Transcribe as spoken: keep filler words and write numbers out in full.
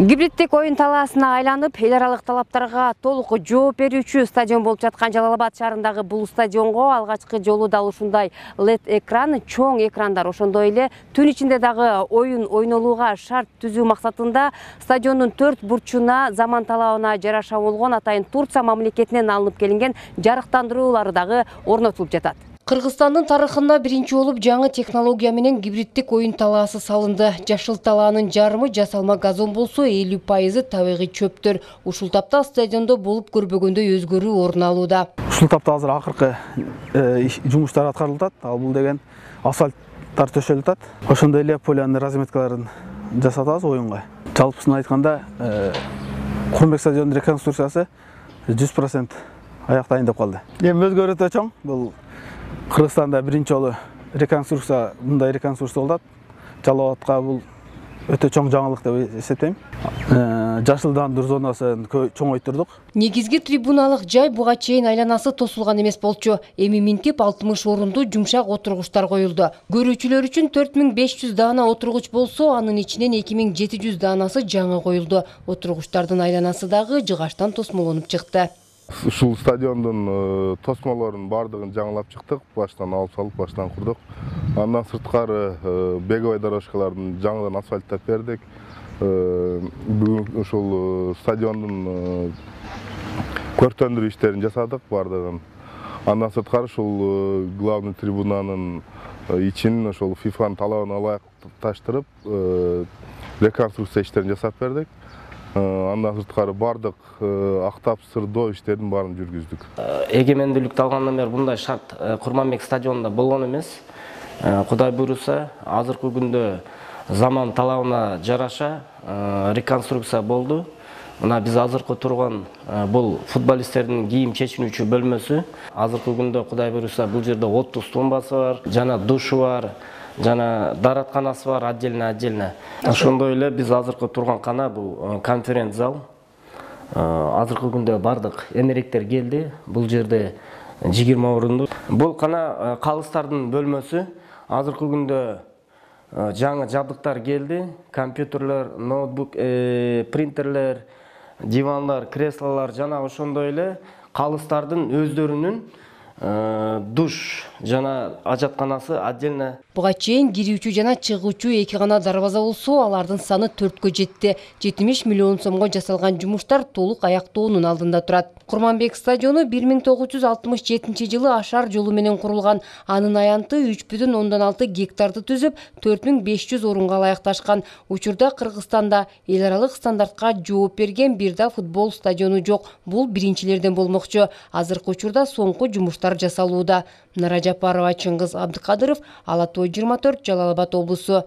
Гибриддик оюн талаасына айланып, эл аралык талаптарга толук жооп берүүчү стадион болуп жаткан Жалал-Абад шаарындагы бул стадионго алгачкы жолу дал ушундай лед экран, чоң экрандар, ошондой эле түн ичинде дагы оюн ойнолууга шарт түзүү максатында стадиондун төрт бурчуна заман талабына жараша болгон атайын Турция мамлекетинен алынып келинген жарыктандыруулары дагы орнотулуп жатат. Кыргызстандын тарыхында биринчи болуп жаңы технология менен гибриддик оюн талаасы салынды. Жашыл талаанын жарымы жасалма газон болсо, элүү пайызы табигый чөптөр. Ушул тапта стадиондо болуп көрбөгөндөй өзгөрүү орун алууда. Ушул тапта азыр акыркы жумуштар аткарылып атат. Ал бул деген асфальттар төшөлүп атат. Ошондой эле полянын разметкаларын жасатабыз оюнга. Жалпысын айтканда, Курманбек стадионунун реконструкциясы жүз процент аяктайын деп калды. Эми өзгөрүү өтө чоң. Бул Кыргызстанда биринчи жолу реконструкция, мындай реконструкция болот. Жалал-Абадка бул өтө чоң жаңылык деп эсептейм. Жашылдандыруу зонасын чоңойтурдук. Негизги трибуналык жай буга чейин айланасы тосулган эмес болчу. Эми минтип алтымыш орунду жумшак отургучтар коюлду. Көрүүчүлөр үчүн төрт миң беш жүз даана отургуч болсо, анын ичинен эки миң жети жүз даанасы жаңы коюлду. Отургучтардын айланасы дагы жыгачтан тосмолонуп чыкты. Ушул стадиондун тосмолорун бардыгын жаңылап чыктык, баштан алып салып, баштан курдук. Андан сырткары беговой дорожкалардын жаңыдан асфальттап бердик. Бүгүн ушул стадиондун көрктөндүрүү иштерин жасадык бардыгын. Андан сырткары ушул главный трибунанын ичин ошол фифанын талабына ылайыкташтырып, реконструкция иштерин жасап бердик. Андан сырткары бардык актап сырдоо иштерин баарын жүргүздүк. Эгемендүүлүктү алгандан бери мындай шарт Курманбек стадионунда болгон эмес. Кудай буйруса, азыркы күндө заман талабына жараша реконструкция болду. Мына биз азыркы турган бул футболисттердин кийим чечинүүчү бөлмөсү. Азыркы күндө Кудай буйруса бул жерде отуз тумбасы бар, жана душу бар. Жана дааратканасы бар отдельно-отдельно. Ошондой эле биз азыркы турган кана бул конференц зал. Азыркы күндө бардык эмеректер келди. Бул жерде жыйырма орунду. Бул кана калыстардын бөлмөсү. Азыркы күндө жаңы жабдыктар келди. Компьютерлер, ноутбук, принтерлер, дивандар, креслолор жана ошондой эле калыстардын өздөрүнүн душ жана ажатканасы отдельно. Буга чейин кирүүчү жана чыгуучу эки гана дарбаза болсо, алардын саны төрткө жетти. жетимиш миллион сомго жасалган жумуштар толук аяктоонун алдында турат. Курманбек стадиону бир миң тогуз жүз алтымыш жетинчи жылы ашар жолу менен курулган. Анын аянты үч бүтүн ондон алты гектарды түзүп, төрт миң беш жүз орунга ылайыкташкан. Учурда Кыргызстанда эл аралык стандартка жооп берген бир да футбол стадиону жок. Бул биринчилерден болмокчу. Азыркы учурда соңку жумуштар жасалууда. Нара Жапарова, Чыңгыз Абдыкадыров, Ала той жыйырма төрт, Жалал-Абад облусу.